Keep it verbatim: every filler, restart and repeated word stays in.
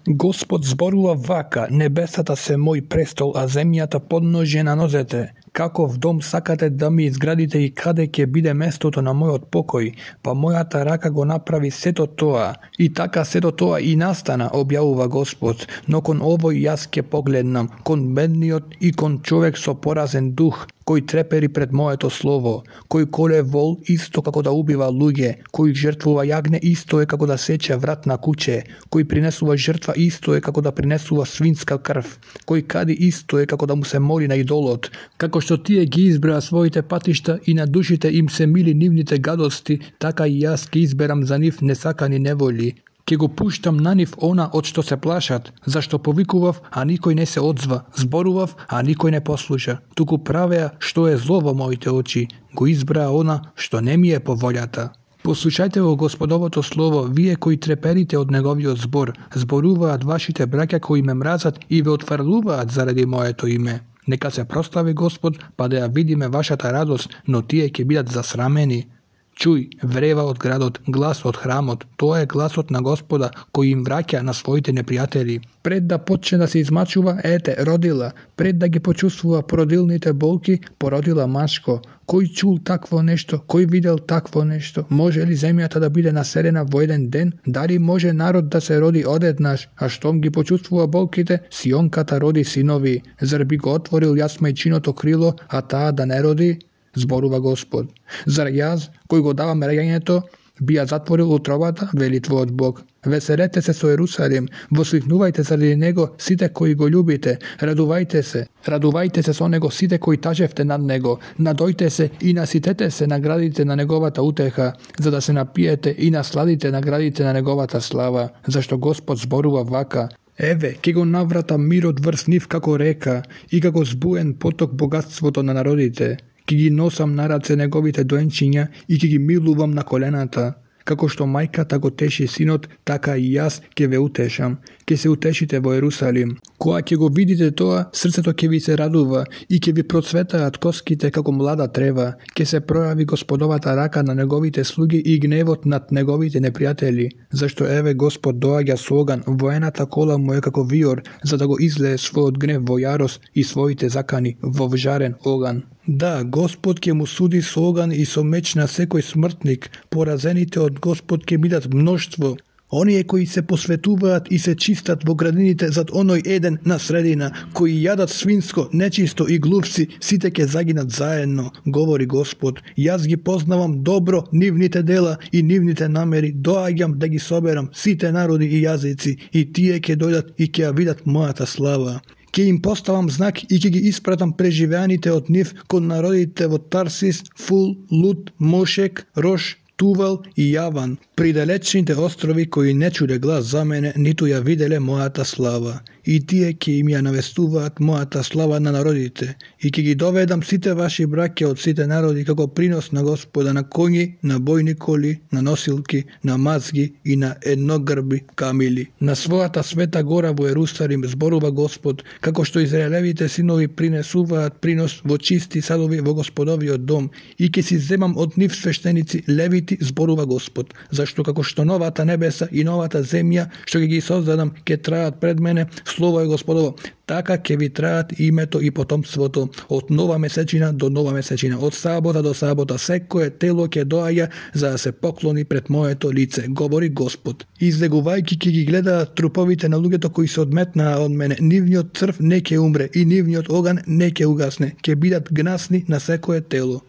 Господ зборува вака: небесата се мој престол, а земјата подножје на нозете. Каков дом сакате да ми изградите и каде ќе биде местото на мојот покој? Па мојата рака го направи сето тоа. И така сето тоа и настана, објавува Господ. Но кон овој јас ќе погледнам, кон бедниот и кон човек со поразен дух, кој трепери пред моето слово, кој коле вол исто како да убива луѓе, кој жртвува јагне исто е како да сече врат на куќе, кој принесува жртва исто е како да принесува свинска крв, кој кади исто е како да му се моли на идолот. Како што тие ги избраа своите патишта и на душите им се мили нивните гадости, така и јас ќе изберам за нив несакани неволи. Ке го пуштам на нив она од што се плашат, зашто повикував, а никој не се одзва, зборував, а никој не послуша. Туку правеа што е зло во моите очи, го избраа она што не ми е по волјата. Послушајте го Господовото слово, вие кои треперите од неговиот збор, зборуваат вашите браќа кои ме мразат и ве отфрлуваат заради моето име. Нека се прослави Господ, па да ја видиме вашата радост, но тие ќе бидат засрамени. Чуј, врева од градот, глас од храмот, тоа е гласот на Господа, кој им враќа на своите непријатели. Пред да почне да се измачува, ете, родила, пред да ги почувствува породилните болки, породила машко. Кој чул такво нешто? Кој видел такво нешто? Може ли земјата да биде населена во еден ден? Дали може народ да се роди одеднаш, а штом ги почувствува болките, сионката роди синови? Зар би го отворил јас мајчиното крило, а таа да не роди? Зборува Господ. Зар јас, кој го давам раѓањето, би ја затворил утробата, вели твојот Бог. Веселете се со Ерусалим, восликнувајте заради него сите кои го љубите, радувајте се, радувајте се со него сите кои тажевте над него, надојте се и наситете се наградите на неговата утеха, за да се напиете и насладите наградите на неговата слава, зашто Господ зборува вака: еве, ќе го навратам мирот врз нив како река и како збуен поток богатството на народите. Ки ги носам на раце неговите доенчиња и ки ги милувам на колената. Како што мајката го теши синот, така и јас ќе ве утешам. Ќе се утешите во Ерусалим. Кога ќе го видите тоа, срцето ќе ви се радува и ќе ви процветаат коските како млада трева. Ќе се пројави Господовата рака на неговите слуги и гневот над неговите непријатели. Зашто еве Господ доаѓа со оган, воената кола му е како виор, за да го излее својот гнев во јарост и своите закани во вжарен оган. Да, Господ ќе му суди со оган и со меч на секој смртник, поразените од Господ ќе бидат мноштво. Оние кои се посветуваат и се чистат во градините зад оној еден на средина, кои јадат свинско, нечисто и глувци, сите ќе загинат заедно, говори Господ. Јас ги познавам добро нивните дела и нивните намери, доаѓам да ги соберам сите народи и јазици, и тие ќе дојдат и ќе ја видат мојата слава. Ќе им поставам знак и ќе ги испратам преживеаните од нив кон народите во Тарсис, Фул, Луд, Мошек, Рош, Тувал и Јаван, при далечните острови кои не чуде глас за мене, ниту ја виделе мојата слава. И тие ќе им ја навестуваат мојата слава на народите, и ќе ги доведам сите ваши браќа од сите народи како принос на Господа на коњи, на бојни коли, на носилки, на мазги и на едногрби камили. На својата света гора во Ерусалим зборува Господ, како што израелевите синови принесуваат принос во чисти садови во Господовиот дом, и ќе си земам од нив свештеници левити, зборува Господ, зашто како што новата небеса и новата земја што ќе ги создадам ќе траат пред мене, слово е Господово, така ќе ви траат името и потомството од нова месечина до нова месечина, од сабота до сабота, секое тело ќе доаѓа за да се поклони пред моето лице, говори Господ. Излегувајќи ќе ги гледаат труповите на луѓето кои се одметнаа од мене, нивниот црв не ќе умре и нивниот оган не ќе угасне, ќе бидат гнасни на секое тело.